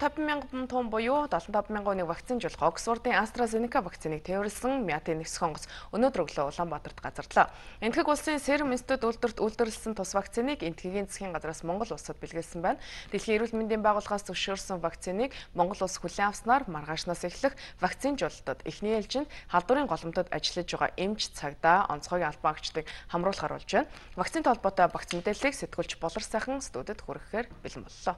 150,000 тонн буюу 75,000 вакцинжуулах Оксфордын AstraZeneca вакциныг тээвэрлсэн Мяатын нисэх онгоц өнөөдөр өглөө Улаанбаатарт газарлаа. Энэтхэг улсын Serum Institute үйлдвэрлэсэн тус вакциныг Энэтхэгийн засгийн газраас Монгол улсад бэлгэлсэн байна. Дэлхийн эрүүл мэндийн байгууллагаас зөвшөөрсөн вакциныг Монгол улс хүлээн авснаар маргаашнаас эхлэх вакцинжуулалтад эхний ээлжинд халдварын голомтод ажиллаж байгаа эмч, цагдаа, онцгойн албан агчдыг хамруулахар болж байна. Вакцинтай холбоотой багц мэдээллийг сэтгүүлч Болор сайхан студид хүргэхээр бэлэн боллоо.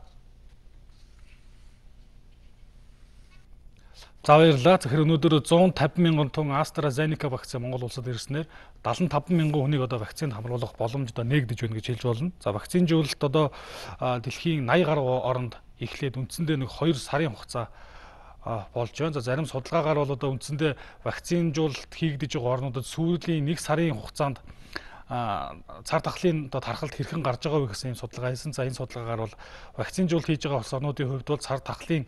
За баярлалаа. Тэгэхээр өнөөдөр 150,000 тонн AstraZeneca вакцин Монгол улсад ирснээр 75,000 хүнийг одоо вакцинд хамруулах боломж одоо нээгдэж байна гэж хэлж болно. За вакцинжуулалт одоо дэлхийн 80 гаруй оронд эхлээд үндсэндээ нэг 2 сарын хугацаа болж байна. За зарим судалгаагаар бол одоо үндсэндээ вакцинжуулалт хийгдэж байгаа орнуудад сүүлийн 1 сарын хугацаанд цар тахлын одоо тархалт хэрхэн гарч байгаа вэ гэсэн юм судалгаа хийсэн. За энэ судалгаагаар бол вакцинжуулалт хийж байгаа улс орнуудын хувьд бол цар тахлын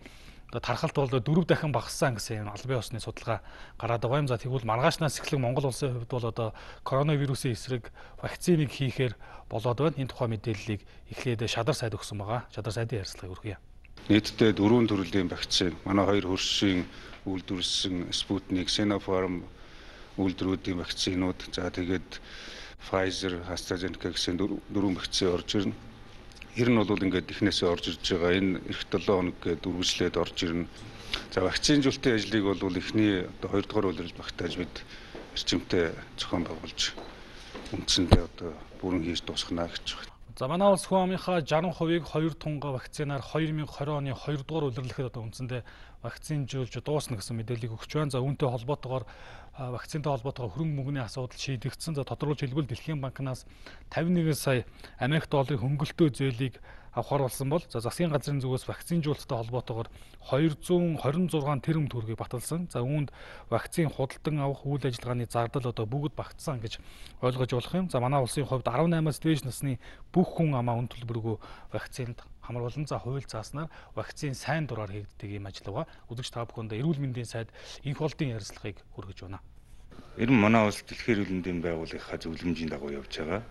тархалт бол 4 дахин багассан гэсэн аль бие усны судалгаа гараад байгаа юм. За тэгвэл маргаашнаас эхлэх Монгол улсын хувьд бол одоо коронавирусын эсрэг вакциныг хийхээр болоод байна. Энэ тухай мэдээллийг эхлээд Шадар сайд өгсөн байгаа. Шадар сайдын ярилцлагыг хүргье. Нийтдээ 4 төрлийн вакцин манай 2 хөршийн үйлдвэрлэсэн Sputnik, Sinopharm үйлдвэрүүдийн вакцинууд, за тэгээд Pfizer, AstraZeneca гэсэн 4 вакцин орж ирнэ. Ер нь бол ингээд эхнээсээ орж ирж байгаа. Энэ эх 7 хоног гээд үргэлжлээд орж ирнэ. За вакцинжуулалтын ажлыг бол эхний одоо 2 дугаар үйлрэл багтааж бид эрчимтэй зохион байгуулж үндсэндээ одоо бүрэн хийж дуусгана гэж байна. За манай улс хүн амынхаа 60%-ийг 2 тунга вакцинаар 2020 оны 2 дугаар улирлэхэд одоо үндсэндээ вакцинжуулж дуусна гэсэн мэдээллийг өгч байна. За үүнтэй холбоотойгоор вакцинтай холбоотойгоор хөрөнгө мөнгөний асуудал шийдэгдсэн. За тодорхойлж хэлбэл Дэлхийн банкнаас 51 сая Америк долларын хөнгөлөлтөө зээлийг авахар болсон бол за засгийн газрын зүгээс вакцинжуулалттай холбоотойгоор 226 тэрбум төгрөгийг баталсан. За үүнд вакцин худалдан авах үйл ажиллагааны зардал одоо бүгд багтсан гэж ойлгож болох юм. За манай улсын хувьд 18-аас дээш насны бүх хүн амаа үн төлбөргүй вакцинд хамруулан за хууль зааснаар вакцин сайн дураар хийгддэг юм ажиллагаа үзэгч та бүхэнд эрүүл мэндийн сайд инх болдын ярилцлагыг хүргэж байна. Ер нь манай улс дэлхийн эрүүл мэндийн байгууллагынхаа зөвлөмжийн дагуу явж байгаа.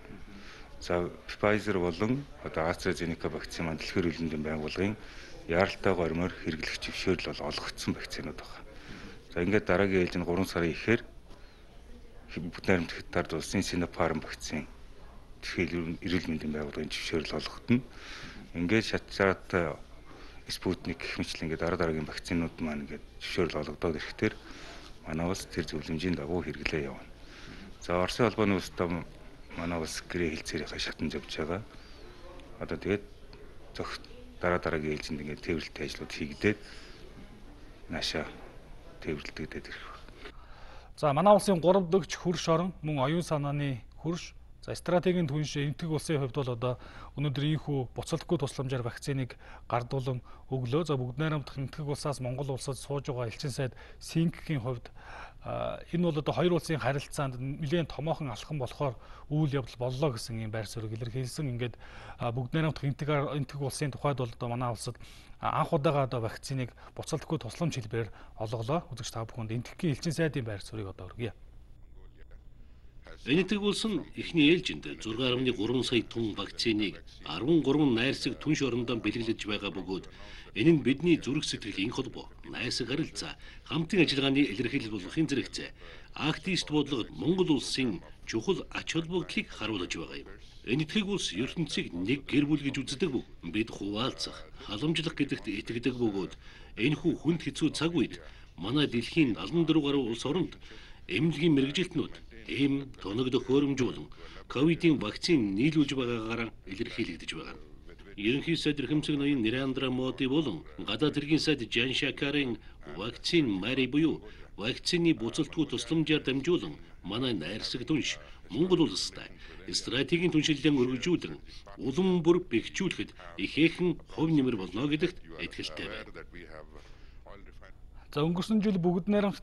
За Pfizer болон одоо AstraZeneca вакцин маань дэлхийн эрүүл мэндийн байгууллагын яаралтай гормоор хэрэглэх зөвшөөрөл бол олгогдсон вакцинууд байна. За ингээд дараагийн ээлжинд 3 сарын ихээр бүгд найрамд хятад улсын Sinopharm вакцин дэлхийн эрүүл мэндийн байгууллагын зөвшөөрөл олгогдно. Ингээд шатшаатай Sputnik гэх мэтлэн ингээд дараагийн вакцинууд маань ингээд зөвшөөрөл олгодоод ирэхээр манай улс тэр зөвлөмжийн дагуу хэрэглээ явна. За Оросын холбооны улстай манай улс гэрээ хэлцээрийнхаа шатанд явж байгаа. Одоо тэгээд дараагийн ээлжинд ингээд тээвэрлэлтийн ажлууд хийгдээд наашаа тээвэрлэгдээд ирэх байна. За манай улсын 3 дэгч хөрш орон мөн оюун санааны хөрш. За стратегийн түнш Энэтхэг улсын хувьд бол одоо өнөөдөр ийхүү буцалтгүй тусламжаар вакциныг гардуулан өглөө. За бүгд найрамдах Энэтхэг улсаас Монгол улсад сууж байгаа элчин сайд Синкгийн хувьд энэ бол одоо хоёр улсын харилцаанд нэлээд томоохон алхам болохоор үйл явдал боллоо гэсэн юм байр суурийг илэрхийлсэн. Ингээд бүгд найрамдах Энэтхэг улсын тухайд бол одоо манай улсад анх удаага одоо вакциныг буцалтгүй тусламж хэлбэрээр олголоо. Үзэгч та бүхэнд Энэтхэгийн элчин сайдын байр суурийг одоо өргөе. Энэтхэг улс нь эхний ээлжинд 6.3 сая тонн вакциныг 13 найрсаг түнш орондоо бэлгэлж байгаа бөгөөд энэ нь бидний зүрх сэтгэлийн холбоо, найрсаг харилцаа, хамтын ажиллагааны илэрхийлэл болохын зэрэгцээ, активист бодлого Монгол улсын чухал ач холбогдлыг харуулж байгаа юм. Энэтхэг улс ертөнцийг нэг гэр бүл гэж үздэг бүг. Бид хуваалцах, халамжлах гэдэгт итгэдэг бөгөөд энэхүү хүнд хэцүү цаг үед манай дэлхийн 74 гаруй улс оронд эмнэлгийн мэргэжилтнүүд эм тоног төхөөрөмж болон ковидын вакцин нийлүүлж байгаагаар илэрхийлэгдэж байгаа. Ерөнхий сайд эрхэмсэг ноён Нэрандра Моди болон гадаад хэргийн сайд Жан Шакарын вакцин Мари буюу вакцины буцалтгүй тусламжаар дамжуулан манай найрсаг түнш Монгол улстай стратегийн түншлэлэн өргөжүүлэн улам бүр бэхжүүлэхэд ихээхэн хувь нэмэр болно гэдэгт итгэлтэй байна. За өнгөрсөн жил бүгд найрамдах